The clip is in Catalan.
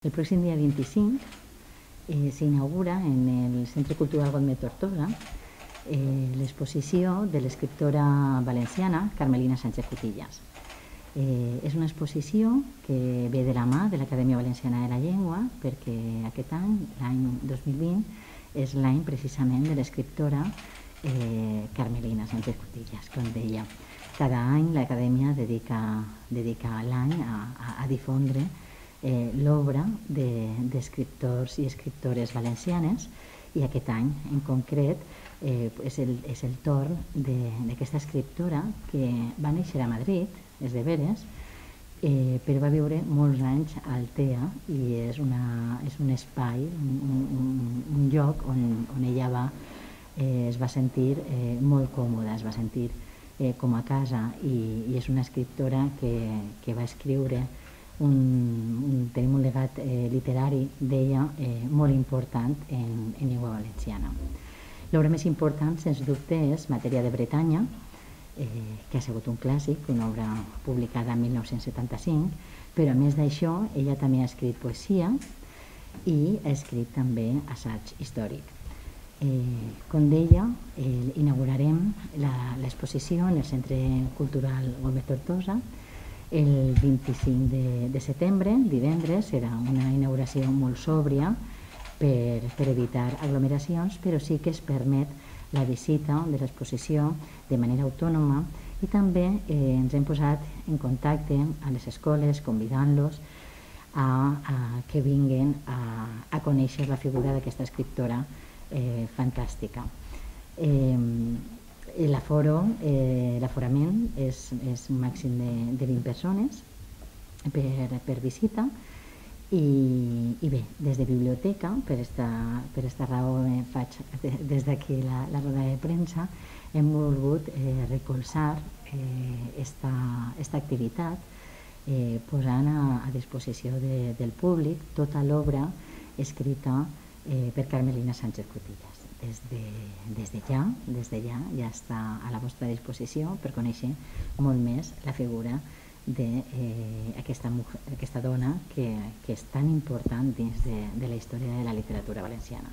El pròxim dia 25 s'inaugura en el Centre Cultural Gomet Tortosa l'exposició de l'escriptora valenciana Carmelina Sánchez Cutillas. És una exposició que ve de la mà de l'Acadèmia Valenciana de la Llengua, perquè aquest any, l'any 2020, és l'any precisament de l'escriptora Carmelina Sánchez Cutillas, com deia. Cada any l'Acadèmia dedica l'any a difondre l'obra d'escriptors i escriptores valencianes, i aquest any en concret és el torn d'aquesta escriptora que va néixer a Madrid, és de Veres, però va viure molts anys a Altea, i és un espai, un lloc on ella es va sentir molt còmoda, es va sentir com a casa, i és una escriptora que va escriure tenim un legat literari d'ella molt important en llengua valenciana. L'obra més important, sens dubte, és Matèria de Bretanya, que ha sigut un clàssic, una obra publicada en 1975, però a més d'això ella també ha escrit poesia i ha escrit també assaig històric. Com deia, inaugurarem l'exposició en el Centre Cultural Gomet Tortosa el 25 de setembre, divendres. Serà una inauguració molt sòbria per evitar aglomeracions, però sí que es permet la visita de l'exposició de manera autònoma, i també ens hem posat en contacte amb les escoles convidant-los a que vinguin a conèixer la figura d'aquesta escriptora fantàstica. L'aforament és un màxim de 20 persones per visita, i bé, des de biblioteca, per esta raó faig des d'aquí la roda de premsa, hem volgut recolzar esta activitat posant a disposició del públic tota l'obra escrita per Carmelina Sánchez Cutillas. Des de ja està a la vostra disposició per conèixer molt més la figura d'aquesta dona que és tan important dins de la història de la literatura valenciana.